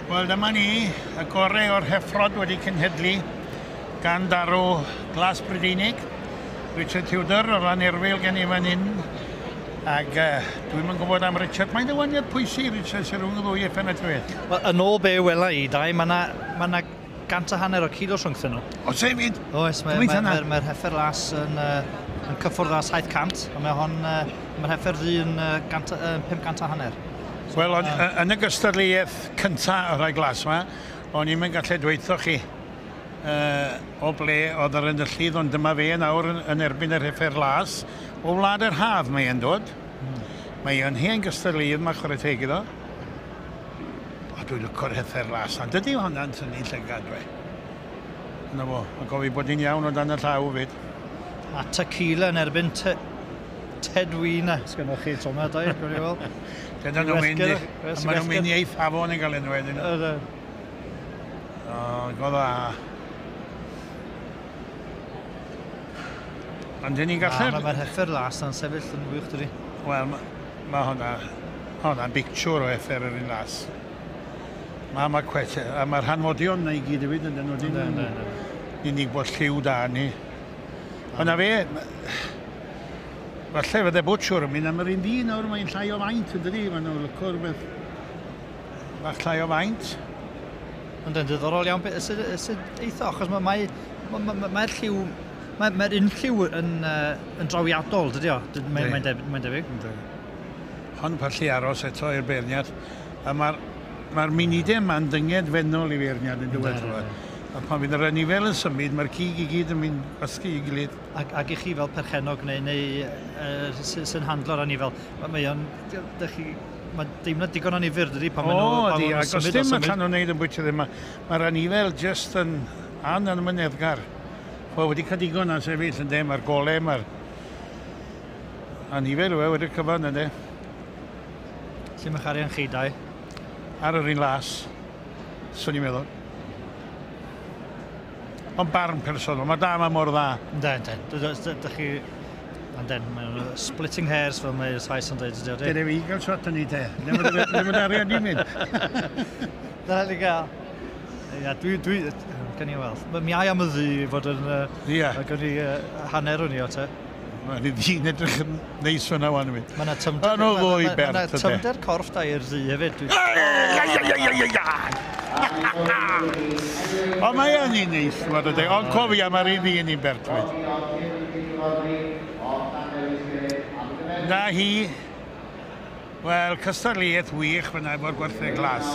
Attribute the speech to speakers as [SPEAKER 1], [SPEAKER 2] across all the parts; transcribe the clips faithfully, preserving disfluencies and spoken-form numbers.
[SPEAKER 1] Wel, dyma ni, y gorau o'r heffrod wedi cenhedlu gan darw Glas Brydeinig, Richard Tudor o Lanerfyl gen i fan hyn. Ac uh, dwi'm yn gwybod am Richard. Mae'n ddewaniad pwysig, Richard, sy'n rhwng y ddwy effen y trwydd.
[SPEAKER 2] Wel, yn ôl be wela i, Dai, mae yna ma gant a hanner o kilo rhwngthyn nhw.
[SPEAKER 1] O, sef fyd?
[SPEAKER 2] Oes, mae'r mae, mae, mae heffer las yn, uh, yn cyffwrdd â saith cant, a mae hon, uh, mae'r heffer ddu yn uh, gant, uh, pum cant a hanner.
[SPEAKER 1] So, wel, on, uh, yn y gystadleuaeth cyntaf o'r rhai glas yma, o'n i'n gallu dweutho chi uh, o ble oedd yr enillydd, ond dyma fe nawr yn, yn erbyn yr heffer las. O wlad yr haf mae e'n dod. Mm. Mae e'n hen gystadleuaeth, mae chwarae teg iddo. O, dwi'n lyco'r heffer las. Ond dydy hwnna'n tynnu llygad, we. Yna fo, a gofio bod hi'n iawn o dan y llaw fyd.
[SPEAKER 2] A tequila yn erbyn te Tedwina, sgynnoch chi tro yma, dau, gwni i weld.
[SPEAKER 1] Dyna nhw'n mynd, maen nhw'n mynd i eithafon yn cael enw wedyn. O, go dda. Ond dyn ni'n gallu...
[SPEAKER 2] Mae'r heffer las na'n sefyll yn wych, dydi?
[SPEAKER 1] Wel, mae hwnna, hwnna'n bictiwr o heffer yr un las. Mae ma cwet, a mae'r hanfodion na i gyd hefyd yn dyn nhw. Ni'n unig bod lliw da ni. Ond na fe, falle fydde bwtsiwr yn mynd am yr un dyn nawr, mae'n llai o faint yn dydi, maen nhw'n lyco rhywbeth bach llai o faint.
[SPEAKER 2] Ond yn diddorol iawn, sut eitha, achos mae'r mae, mae, mae lliw, mae'r mae un lliw yn, uh, yn drawiadol, dydi o? Mae'n mae debyg. Mae debyg.
[SPEAKER 1] Hon pallu aros eto i'r beirniad. A mae'r mae munudau yma'n dynged fennol i feirniad yn dywed. A pan fydd yr anifel yn symud, mae'r cig i gyd yn mynd gwasgu i gilydd.
[SPEAKER 2] Ac, ac i chi fel perchennog neu, neu uh, sy'n handlo'r anifel, mae o'n, chi, mae deimlad digon anifyr, dydy, pan maen nhw'n symud.
[SPEAKER 1] O, ac os dim allan nhw'n neud yn bwyty ddim, mae'r anifel jyst yn anamyneddgar. Wel, wedi cael digon am sefyll, yndê, mae'r gole, mae'r anifel yw e wedi'r cyfan, yndê.
[SPEAKER 2] Lle mae'ch arian chi, Dai?
[SPEAKER 1] Ar yr un las, swn i'n meddwl. Ond barn personol, mae da, mae mor dda.
[SPEAKER 2] Yndê, yndê. Dych chi... Yndê, mae'n splitting hairs fel mae'r Sais yn dweud.
[SPEAKER 1] Dyna fi gael shot yn ei te. Ddim yn arian i'n mynd.
[SPEAKER 2] Dyna ni gael. Ia, dwi... dwi Gan i weld. Mi ai am y ddu i fod yn... Ia. Gan i hanner o'n i o te.
[SPEAKER 1] Mae'n i ddi'n edrych yn neis fyna wan i mi.
[SPEAKER 2] Mae yna tymder...
[SPEAKER 1] Mae ddwy bert.
[SPEAKER 2] Mae yna tymder corff da i'r ddu hefyd.
[SPEAKER 1] Ond mae yn un neis, mae'n dweud. Ond cofia, mae'r un ddu yn un bert fyd. Na hi, wel, cystadleuaeth wych fyna efo'r gwartheg glas.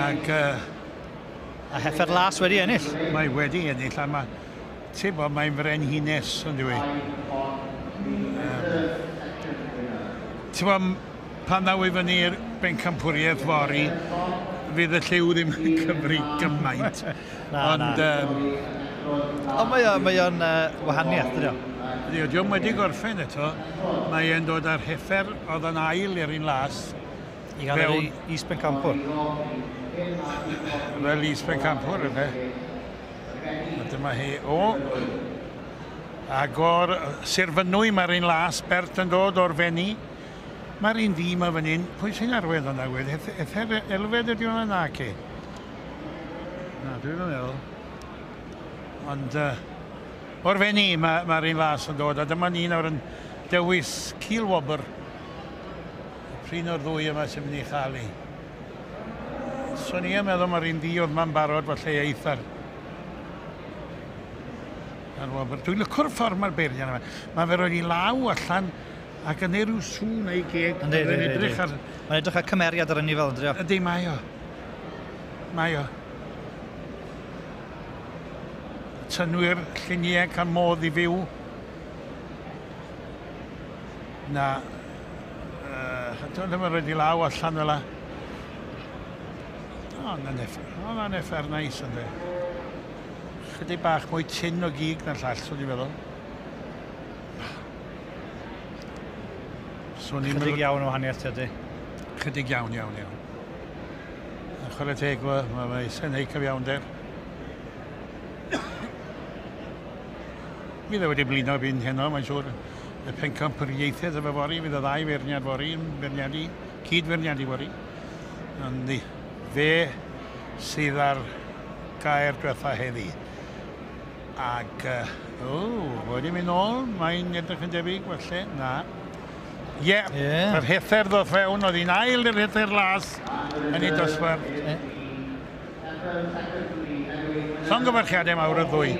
[SPEAKER 1] Ac... Uh,
[SPEAKER 2] A heffer las wedi ennill.
[SPEAKER 1] Mae wedi ennill, a mae, ti'n bod, mae'n frenhines, yn dwi. Um, ti'n bod, pan ddaw i fyny'r bencampwriaeth fory, fydd y lliw ddim yn cyfri gymaint.
[SPEAKER 2] Na,
[SPEAKER 1] Ond,
[SPEAKER 2] na.
[SPEAKER 1] Um,
[SPEAKER 2] Ond mae o'n, mae o'n uh, wahaniaeth, dydy o?
[SPEAKER 1] Ydy, dio'm wedi gorffen eto. Mae e'n dod â'r heffer oedd yn ail i'r un las.
[SPEAKER 2] I gael yr is-bencampwr.
[SPEAKER 1] Fel is-bencampwr, yfe. A dyma hi. O! Ac o'r Sir Fynwy mae'r un las, Bert yn dod o'r Fenni. Mae'r un ddu yma fan hyn. Pwy sy'n arwydd o'na wedd? Ether Elfed ydi hwnna na ci? Na, dwi'n meddwl. Ond uh, o'r Fenni mae'r ma un las yn dod. A dyma ni nawr yn dewis cilwobr. Prin o'r ddwy yma sy'n mynd i chael i. So ni yn meddwl mae'r un ddu oedd ma'n barod falle eitha'r ar wobr. Dwi'n lyco'r ffordd mae'r beirniad yma. Mae fe roed i law allan ac yn ei rhyw sŵn ei geg.
[SPEAKER 2] Yndi, yndi, yndi.
[SPEAKER 1] Ar...
[SPEAKER 2] Mae'n edrych ar cymeriad ar anifail, yndi o?
[SPEAKER 1] Yndi, mae o. Mae o. Tynwyr lluniau cael modd i fyw. Na. Uh, Dwi'n ddim yn rhaid i law allan fel la. O, na'n effer. O, na'n effer neis, yndi. Chydig bach mwy tyn o gig na'r llall, swn i'n meddwl.
[SPEAKER 2] Swn i'n Chydig iawn o wahaniaeth, ydy.
[SPEAKER 1] Chydig iawn, iawn, iawn. A chwarae teg, mae mae eisiau neud cyfiawnder. Fydd e wedi blino byn heno, mae'n siŵr. Y pencampwriaethau efo fory, fydd y ddau feirniad fory yn feirniadu, cyd-feirniadu fory. Ond Fe sydd ar gair diwetha heddi. Ac, uh, o, wedi mynd nôl, mae'n edrych yn debyg, felly, na. Ie, yeah,
[SPEAKER 2] Ie.
[SPEAKER 1] yr rhuthr ddoth fewn, oedd hi'n ail i'r rhuthr las yn ei dosbarth.
[SPEAKER 2] Ie.
[SPEAKER 1] Llongyfarchiadau mawr y ddwy.